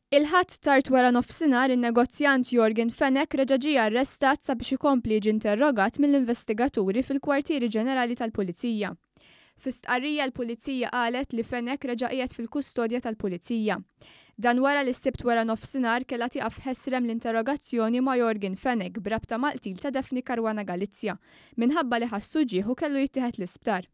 Il-Ħadd tard wara nofsinhar in-negozjant Yorgen Fenech reġa' ġie arrestat sabiex ikompli jiġi interrogat mill-investigaturi fil-Kwartieri Ġenerali tal-Pulizija. Fi stqarrija l-Pulizija qalet li Fenech reġa' qiegħed fil-kustodja tal-Pulizija. Dan wara li s-Sibt wara nofsinhar kellha tieqaf ħesrem l-interrogazzjoni ma' Yorgen Fenech b'rabta mal-qtil ta' Daphne Caruana Galizia minħabba li ħass uġigħ u kellu jittieħed l-isptar.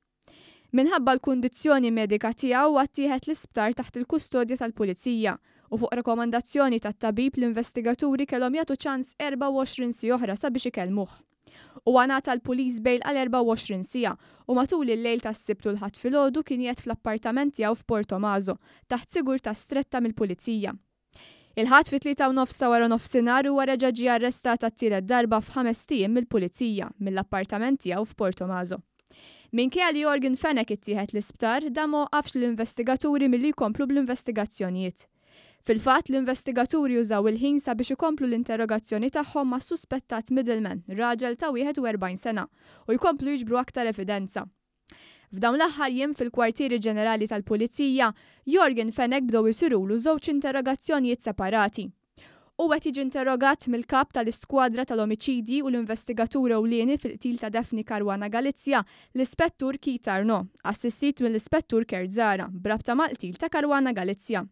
Minħabba l-kundizzjoni medika tiegħu huwa ttieħed l-isptar taħt il-kustodja tal-Pulizija u fuq rakkomandazzjoni tat-tabib l-investigaturi kellhom jagħtu ċans 24 siegħa oħra sabiex ikellmuh. Huwa ngħata l-police bail għal 24 siegħa u matul il-lejl tas-Sibt u l-Ħadd filgħodu kien qiegħed fl-appartament tiegħu f'Portomaso taħt sigurtà stretta mill-Pulizija. Il-Ħadd fit-tlieta u nofs ta' waranofsinhar huwa reġa' ġie arrestat għat-tielet darba f'ħamest ijiem mill-Pulizija mill-appartament tiegħu f'Portomaso. Minkejja li Yorgen Fenech ittieħed l-isptar, dan ma waqqafx lill-investigaturi milli jkomplu bl-investigazzjonijiet. Fil-fatt, l-investigaturi użaw il-ħin sabiex ikomplu l-interrogazzjoni tagħhom mas-suspettat middleman, raġel ta' 41 sena, u jkomplu jiġbru aktar evidenza. F'dawn l-aħħar jiem fil-Kwartieri Ġenerali tal-Pulizija, Yorgen Fenech bdew isirulu żewġ interrogazzjonijiet separati. Hu qed jiġi interrogat mill-Kap tal-Iskwadra tal-Omiċidji u l-investigatur ewlieni fil-qtil ta' Daphne Caruana Galizia, l-Ispettur Keith Arnaud, assistit mill-Ispettur Kurt Zahra, b'rabta mal-qtil ta' Caruana Galizia.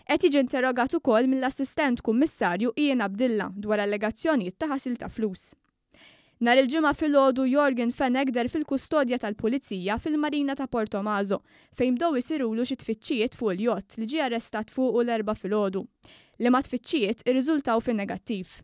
Qed jiġi interrogat ukoll mill-Assistent Kummissarju Ian Abdilla dwar allegazzjonijiet ta' ħasil ta' flus. Nhar il-Ġimgħa filgħodu Yorgen Fenech deher fil-kustodja tal-Pulizija fil-Marina ta' Portomaso fejn bdew isirulu xi tfittxijiet fuq il-jott li ġie arrestat fuqu l-Erbgħa filgħodu, liema tfittxijiet irriżultaw fin-negattiv.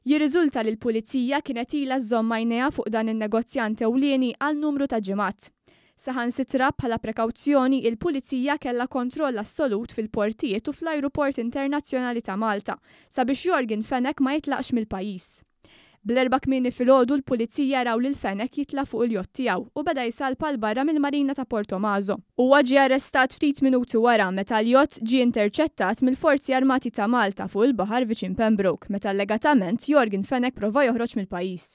Jirriżulta li l-Pulizija kienet ilha żżomm għajnejha fuq dan in-negozjant ewlieni għal numru ta' ġimgħat. Saħansitra, bħala prekawzjoni, il-Pulizija kellha kontroll assolut fil-portijiet u fl-ajruport internazzjonali ta' Malta sabiex Yorgen Fenech ma jitlaqx mill-pajjiż. Bl-Erbgħa kmieni filgħodu l-Pulizija raw lil Fenech jitla' fuq il-jott tiegħu u beda jsalpa 'l barra mill-marina ta' Portomaso. Huwa ġie arrestat ftit minuti wara meta l-jott ġie interċettat mill-Forzi Armati ta' Malta fuq il-baħar viċin Pembroke meta allegatament Yorgen Fenech prova joħroġ mill-pajjiż.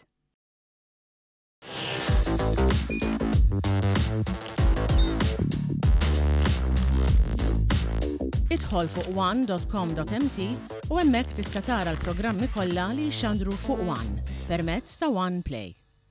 Idħol fuq one.com.mt u hemmhekk tista' tara l-programmi kollha li jixxandru fuq One permezz ta' One Play.